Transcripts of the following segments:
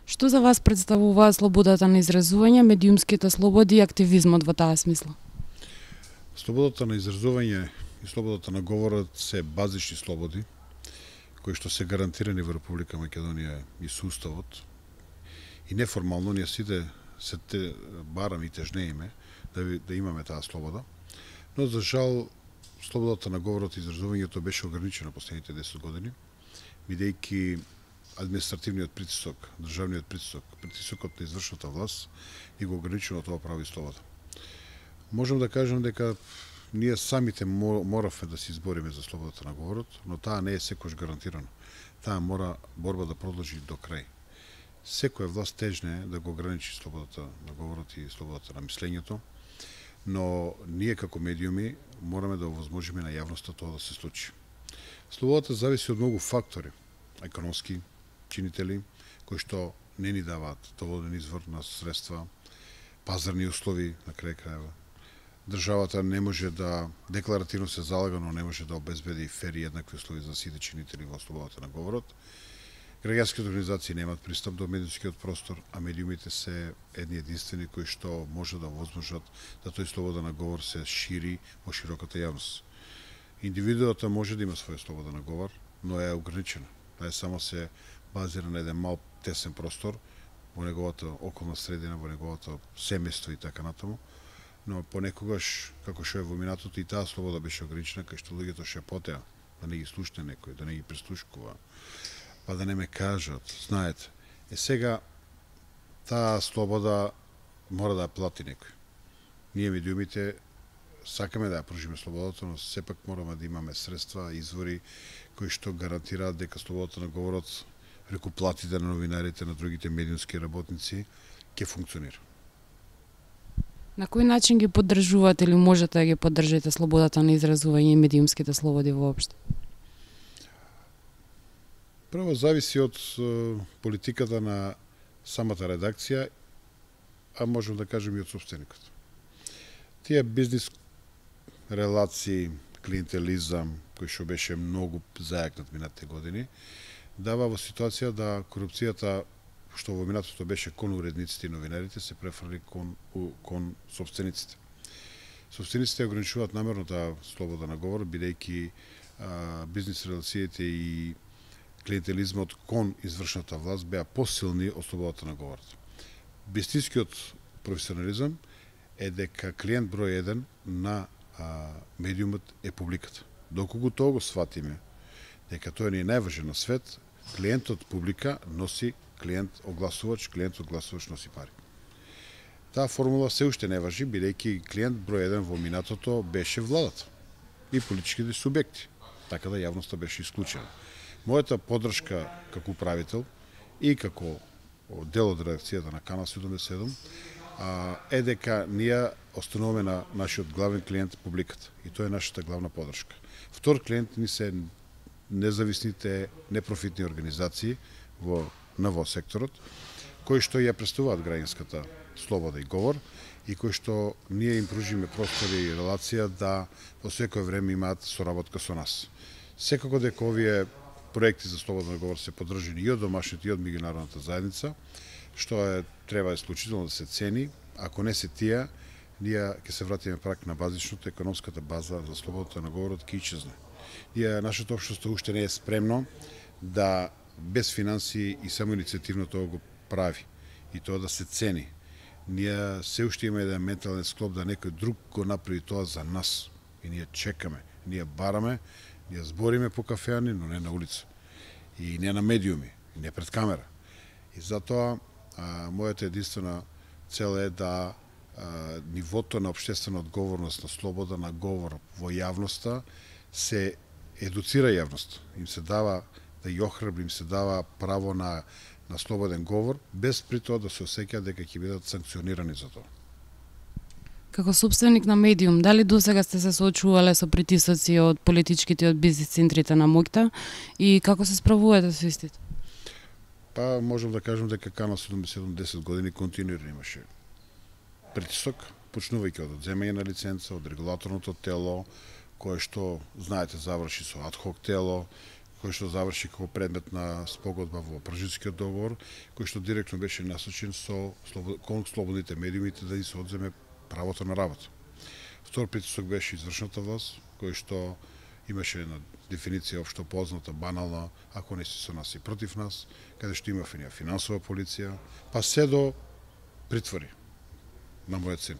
Што за вас представуваат слободата на изразување, медиумските слободи и активизмот во таа смисла? Слободата на изразување и слободата на говорот се базични слободи кои што се гарантирани во Република Македонија и со уставот. И неформално ние сите се бараме и тежнееме да имаме таа слобода. Но за жал слободата на говорот и изразувањето беше ограничена последните 10 години, бидејќи административниот притисок, државниот притисок, притисокот на извршната власт и го ограничено тоа право и слобода. Можам да кажам дека ние самите моравме да се избориме за слободата на говорот, но таа не е секојаш гарантирана. Таа мора борба да продолжи до крај. Секоја власт тежне да го ограничи слободата на говорот и слободата на мислењето, но ние како медиуми мораме да овозможиме на јавноста тоа да се случи. Слободата зависи од многу фактори, економски чинители, кои што не ни даваат доволен извор на средства, пазарни услови на крај крајва. Државата не може да декларативно се залага, но не може да обезбеди фер и еднакви услови за сите чинители во слободата на говорот. Граѓанските организации немаат пристап до медиумскиот простор, а медиумите се едни единствени кои што може да возможат да тој слобода на говор се шири во широката јавност. Индивидуата може да има своја слобода на говор, но е ограничена. Таа само се базира на еден мал тесен простор во неговата околна средина, во неговото семејство и така натаму. Но понекогаш, како што е во минатото, и таа слобода беше ограничена, кај што луѓето шепотеа, да не ги слушне некој, да не ги прислушкува, па да не ме кажат, знаете. Сега, таа слобода мора да ја плати некој. Ние медиумите сакаме да ја пружиме слободата, но сепак мораме да имаме средства, извори, кои што гарантираат дека слободата на говорот, преку платите на новинарите, на другите медиумски работници, ќе функционира. На кој начин ги поддржувате или можете да ги поддржите слободата на изразување и медиумските слободи воопшто? Прво зависи од политиката на самата редакција, а можем да кажем и од собственикот. Тие бизнис релации, клиентелизам, кој што беше многу зајакнат минатите години, дава во ситуација да корупцијата што во минатото беше кон уредниците и новинарите, се префрли кон собствениците. Собствениците ограничуваат намерно таа слобода на говор, бидејќи бизнис релациите и клиентелизмот кон извршната власт беа посилни од слободата на говорот. Вистинскиот професионализам е дека клиент број 1 на медиумот е публиката. Доколку тоа го сватиме, дека тоа не е најважен на свет, клиентот публика носи клиент огласувач носи пари. Таа формула се уште не важи, бидејќи клиент број 1 во минатото беше владата и политичките субјекти, така да јавноста беше исклучена. Мојата поддршка како управител и како дел од редакцијата на Канал 77 е дека ние остануваме на нашиот главен клиент публиката и тоа е нашата главна поддршка. Втор клиент ни се независните непрофитни организации во секторот, кои што ја представуваат граѓанската слобода и говор и кои што ние им пружиме простори и релација да во секој време имаат соработка со нас. Секако дека овие проекти за слободен говор се поддржани и од домашните и од меѓународната заедница, што треба исклучително да се цени. Ако не се тие, ние ќе се вратиме прак на базичното, економската база за слободата на говорот ќе исчезне. Нашето општество уште не е спремно да без финансии и само инициативно тоа го прави и тоа да се цени. Ние се уште имаме еден ментален склоп да некој друг го направи тоа за нас. И ние чекаме, ние бараме, ние збориме по кафеани, но не на улица. И не на медиуми, и не пред камера. И затоа мојата единствена цел е да нивото на општествена одговорност, на слобода на говор во јавноста се едуцира јавност. Им се дава да ја охрабри, им се дава право на слободен говор, без при тоа да се осеќаат дека ќе бидат санкционирани за тоа. Како собственик на медиум, дали досега сте се соочувале со притисоци од политичките и од бизнис центрите на моќта и како се справувате со истите? Па можам да кажам дека Канал 77 10 години континуирано имаше притисок, почнувајќи од одземање на лиценца, од регулаторното тело, кое што, знаете, заврши со адхок тело, кој што заврши како предмет на спогодба во Пржинскиот договор, кој што директно беше насочен кон слободните медиумите да се одземе правото на работа. Втор притисок беше извршната власт, кој што имаше една дефиниција општо позната, банална, ако не си со нас и против нас, каде што имавме финансова полиција, па се до притвори на мојот син.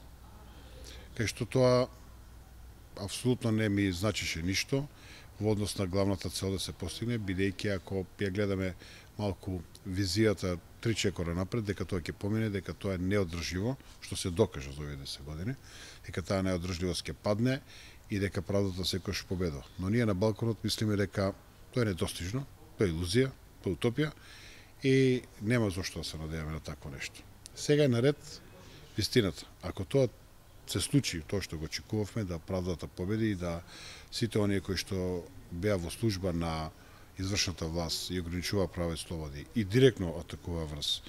Кај што тоа апсолутно не ми значише ништо во однос на главната цел да се постигне, бидејќи ако ја гледаме малку визијата 3 чекора напред, дека тоа ќе помине, дека тоа е неодржливо, што се докажа за овие 10 години, дека таа неодржливост ќе падне и дека правдата секојаш победува. Но ние на Балканот мислиме дека тоа е недостижно, тоа е илузија, тоа е утопија и нема зошто да се надеваме на такво нешто. Сега е наред вистината. Ако тоа се случи, тоа што го очекувавме, да правдата победи и да сите оние кои што беа во служба на извршната власт и ограничува права и слободи и директно атакува врз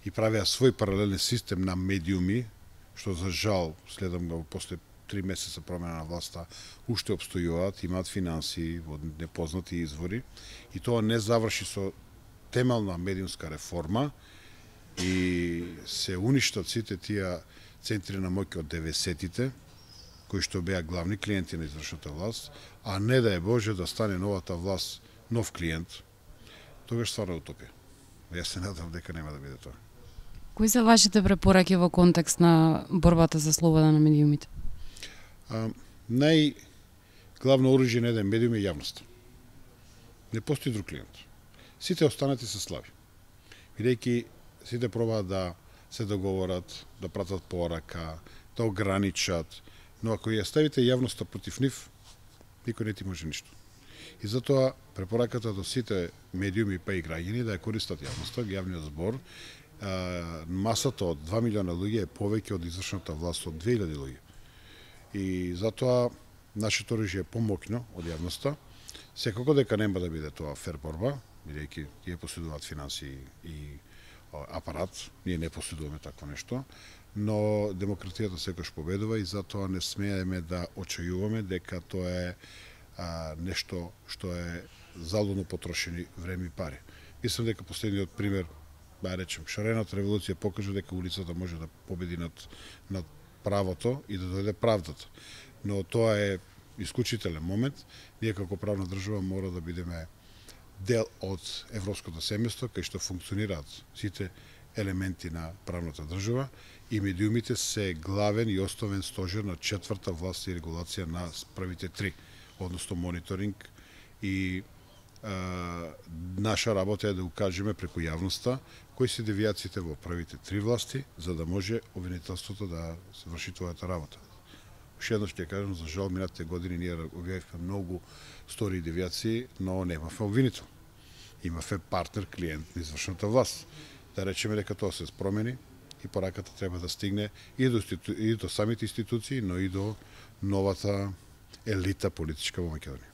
и правеа свој паралелен систем на медиуми, што за жал, следам го после 3 месеца промена на власта, уште обстојуваат, имаат финанси во непознати извори и тоа не заврши со темелна медиумска реформа и се уништат сите тие центри на моќ од 90-тите, кои што беа главни клиенти на извршната власт, а не да е Боже да стане новата власт нов клиент, тогаш стварно утопија. Јас се надам дека нема да биде тоа. Кои се вашите препораки во контекст на борбата за слобода на медиумите? Најглавно оружје на еден медиум е јавноста. Не постои друг клиент. Сите останати се слаби. Бидејќи сите пробаат да се договорат, да пратат порака, да ограничат, но ако ја ставите јавноста против нив, никој не ти може ништо. И затоа препораката до сите медиуми па и граѓани да ја користат јавноста, јавниот збор, масата од 2 милиона луѓе е повеќе од извршната власт од 2000 луѓе. И затоа нашето оружје е помоќно од јавноста. Секако дека нема да биде тоа фер борба, бидејќи тие поседуваат финанси и апарат, ние не поседуваме такво нешто, но демократијата секојаш победува и затоа не смееме да очајуваме дека тоа е нешто што е залудно потрошени време и пари. Мислам дека последниот пример, да речем, шарената револуција покажа дека улицата може да победи над правото и да дојде правдата. Но тоа е исклучителен момент. Ние како правна држава мора да бидеме дел од европското семејство, кај што функционираат сите елементи на правната држава и медиумите се главен и основен стожер на четврта власт и регулација на првите 3, односно мониторинг и наша работа е да укажеме преку јавноста кои се девијациите во првите 3 власти, за да може обвинителството да се врши твојата работа. Уште еднаш ќе кажам, за жал минатите години ние објавивме многу стори девијации, но немавме обвинител. Имавме партнер, клиент на извршната власт. Да речеме дека тоа се промени и пораката треба да стигне и до самите институции, но и до новата елита политичка во Македонија.